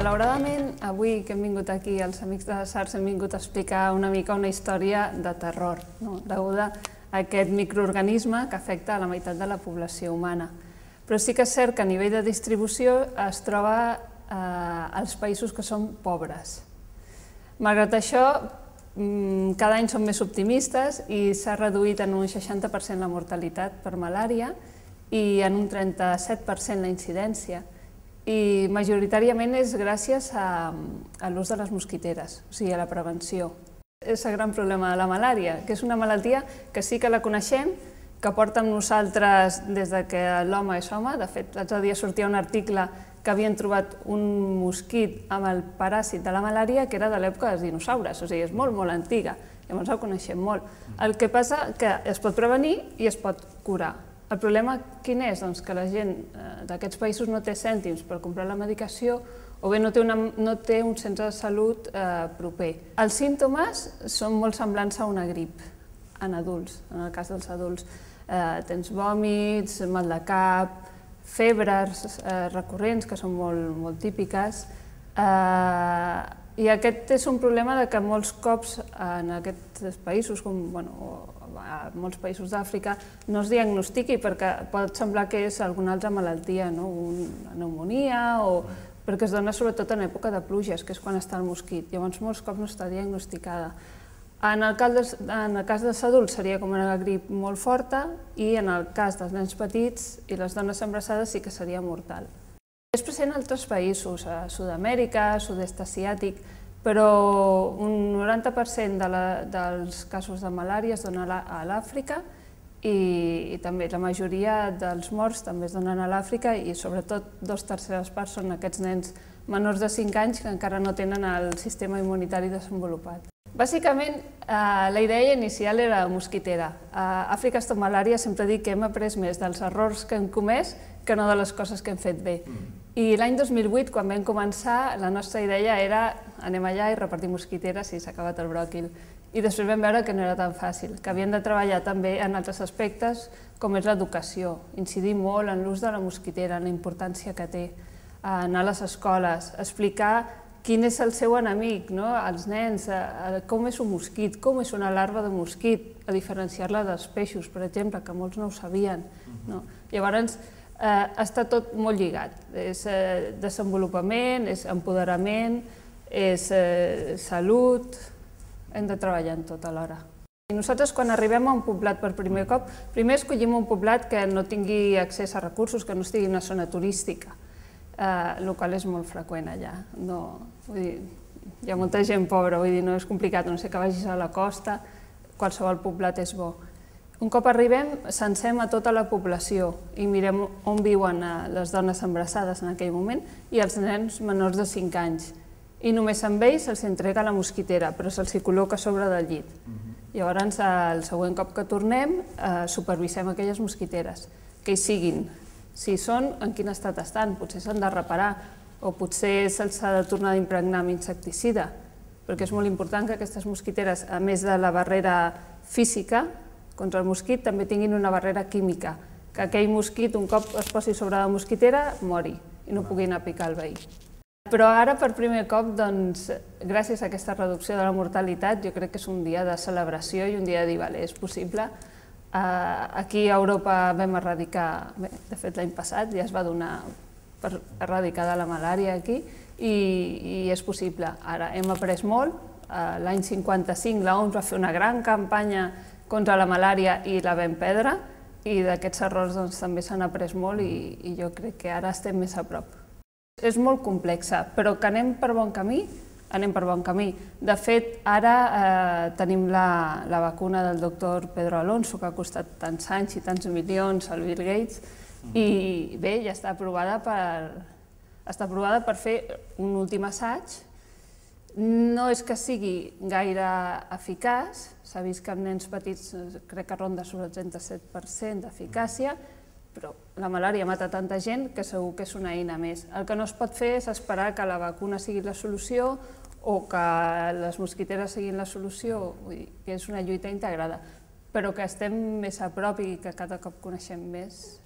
Malauradament, avui que hem vingut aquí, els amics de SARS hem vingut a explicar una mica una història de terror, deguda a aquest microorganisme que afecta a la meitat de la població humana. Però sí que és cert que a nivell de distribució es troba als països que són pobres. Malgrat això, cada any som més optimistes i s'ha reduït en un 60% la mortalitat per malària i en un 37% la incidència. I majoritàriament és gràcies a l'ús de les mosquiteres, o sigui, a la prevenció. És el gran problema de la malària, que és una malaltia que sí que la coneixem, que porta amb nosaltres des que l'home és home. De fet, l'altre dia sortia un article que havien trobat un mosquit amb el paràsit de la malària que era de l'època dels dinosaures, o sigui, és molt, molt antiga, llavors el coneixem molt. El que passa que es pot prevenir i es pot curar. El problema quin és? Doncs que la gent d'aquests països no té cèntims per comprar la medicació o bé no té un centre de salut proper. Els símptomes són molt semblants a una grip en adults, en el cas dels adults. Tens vòmits, mal de cap, febres recurrents, que són molt típiques. I aquest és un problema que molts cops en aquests països, com a molts països d'Àfrica, no es diagnostiqui perquè pot semblar que és alguna altra malaltia, una pneumònia, perquè es dona sobretot en època de pluges, que és quan està el mosquit. Llavors molts cops no està diagnosticada. En el cas dels adults seria com una grip molt forta i en el cas dels nens petits i les dones embarassades sí que seria mortal. És present a altres països, a Sud-amèrica, sud-est asiàtic, però un 90% dels casos de malària es donen a l'Àfrica i també la majoria dels morts també es donen a l'Àfrica i sobretot 2/3 parts són aquests nens menors de 5 anys que encara no tenen el sistema immunitari desenvolupat. Bàsicament, la idea inicial era mosquitera. A Àfrica Stop Malària sempre dic que hem après més dels errors que hem comès que no de les coses que hem fet bé. I l'any 2008, quan vam començar, la nostra idea era anem allà i repartir mosquiteres i s'ha acabat el bròquil. I després vam veure que no era tan fàcil, que havien de treballar també en altres aspectes com és l'educació, incidir molt en l'ús de la mosquitera, en la importància que té, anar a les escoles, explicar quin és el seu enemic, als nens, com és un mosquit, com és una larva de mosquit, a diferenciar-la dels peixos, per exemple, que molts no ho sabien. Llavors, està tot molt lligat. És desenvolupament, és empoderament, és salut, hem de treballar en tot alhora. Nosaltres, quan arribem a un poblat per primer cop, primer escollim un poblat que no tingui accés a recursos, que no estigui en una zona turística, el qual és molt freqüent allà. Hi ha molta gent pobra, vull dir, no és complicat, no sé que vagis a la costa, qualsevol poblat és bo. Un cop arribem, censem a tota la població i mirem on viuen les dones embarassades en aquell moment i els nens menors de 5 anys. I només amb ells se'ls entrega la mosquitera, però se'ls col·loca a sobre del llit. Llavors, el següent cop que tornem, supervisem aquelles mosquiteres, que hi siguin. Si són, en quin estat estan? Potser s'han de reparar o potser se'ls ha de tornar a impregnar amb insecticida, perquè és molt important que aquestes mosquiteres, a més de la barrera física contra el mosquit, també tinguin una barrera química, que aquell mosquit, un cop es posi sobre la mosquitera, mori i no pugui anar a picar el veí. Però ara, per primer cop, gràcies a aquesta reducció de la mortalitat, jo crec que és un dia de celebració i un dia de dir, vale, és possible. Aquí a Europa vam erradicar, de fet l'any passat ja es va donar per erradicada la malària aquí i és possible. Ara hem après molt, l'any 55 l'OMS va fer una gran campanya contra la malària i la vam perdre i d'aquests errors també s'han après molt i jo crec que ara estem més a prop. És molt complexa, però que anem per bon camí, anem per bon camí. De fet, ara tenim la vacuna del doctor Pedro Alonso, que ha costat tants anys i tants milions al Bill Gates, i bé, ja està aprovada per fer un últim assaig. No és que sigui gaire eficaç, s'ha vist que en nens petits crec que ronda sobre el 37% d'eficàcia, però la malària mata tanta gent que segur que és una eina més. El que no es pot fer és esperar que la vacuna sigui la solució o que les mosquiteres siguin la solució, vull dir que és una lluita integrada, però que estem més a prop i que cada cop coneixem més.